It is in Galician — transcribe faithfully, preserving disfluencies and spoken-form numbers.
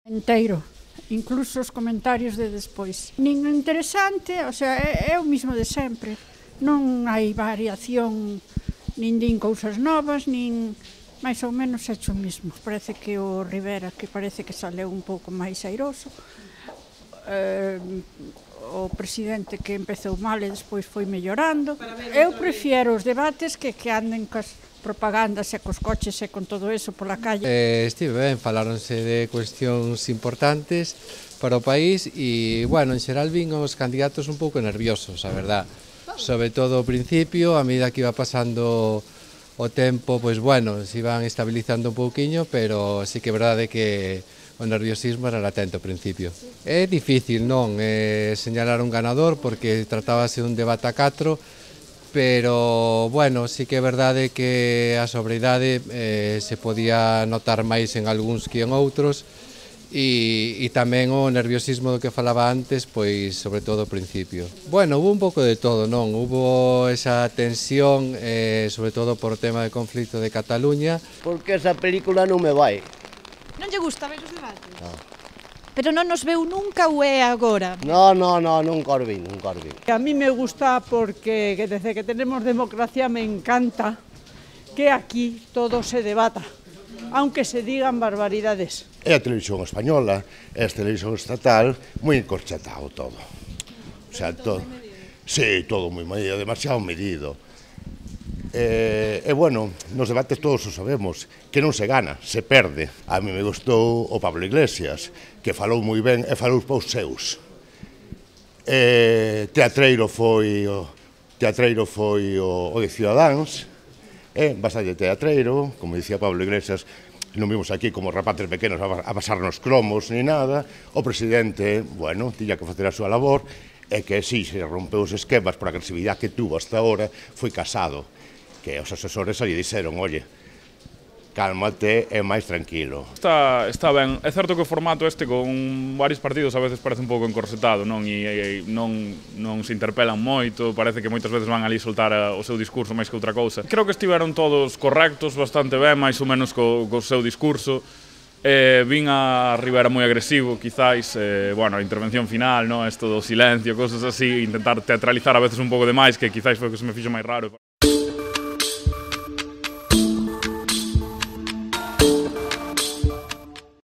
Enteiro, incluso os comentarios de despois. Nin interesante, o sea, é, é o mismo de sempre. Non hai variación, nin din cousas novas, nin máis ou menos hecho o mismo. Parece que o Rivera, que parece que saleu un pouco máis airoso, eh, o presidente que empezou mal e despois foi mellorando. Eu prefiero os debates que, que anden cas propagandas e cos coches e con todo eso pola calle. Eh, estive ben, faláronse de cuestións importantes para o país e, bueno, en xeral vin os candidatos un pouco nerviosos, a verdad. Sobre todo ao principio, a medida que iba pasando o tempo, pois, bueno, se iban estabilizando un pouquiño, pero sí que é verdade que o nerviosismo era latente ao principio. É difícil, non, eh, señalar un ganador porque tratábase dun debate a catro, pero, bueno, sí que é verdade que a sobriedade eh, se podía notar máis en algúns que en outros e, e tamén o nerviosismo do que falaba antes, pois, sobre todo ao principio. Bueno, hubo un pouco de todo, non? Hubo esa tensión, eh, sobre todo por o tema de conflito de Cataluña. Porque esa película non me vai. Non lle gusta ver os debates? No. Pero non nos veu nunca ou é agora? No, no, no, nunca os vin, nunca os vin. A mí me gusta porque desde que tenemos democracia me encanta que aquí todo se debata, aunque se digan barbaridades. É a televisión española, é a televisión estatal, moi encorchetado todo. O sea, todo. Sí, todo moi medido, demasiado medido. E, e, bueno, nos debates todos o sabemos, que non se gana, se perde. A mí me gustou o Pablo Iglesias, que falou moi ben e falou pos seus. E, teatreiro foi o, teatreiro foi o, o de Ciudadáns, e bastante teatreiro, como dicía Pablo Iglesias, non vimos aquí como rapaces pequenos a pasarnos cromos ni nada. O presidente, bueno, tiña que facer a súa labor, e que si se rompeu os esquemas por a agresividade que tuvo hasta ahora, foi casado. Que os asesores ali dixeron, oye, cálmate e máis tranquilo. Está, está ben, é certo que o formato este con varios partidos a veces parece un pouco encorsetado, non? E, e non, non se interpelan moito, parece que moitas veces van ali soltar a, o seu discurso máis que outra cousa. Creo que estiveron todos correctos, bastante ben, máis ou menos co, co seu discurso. Eh, vin a Rivera moi agresivo, quizáis, eh, bueno, a intervención final, no? Esto do silencio, cosas así, intentar teatralizar a veces un pouco de máis, que quizáis foi o que se me fixo máis raro.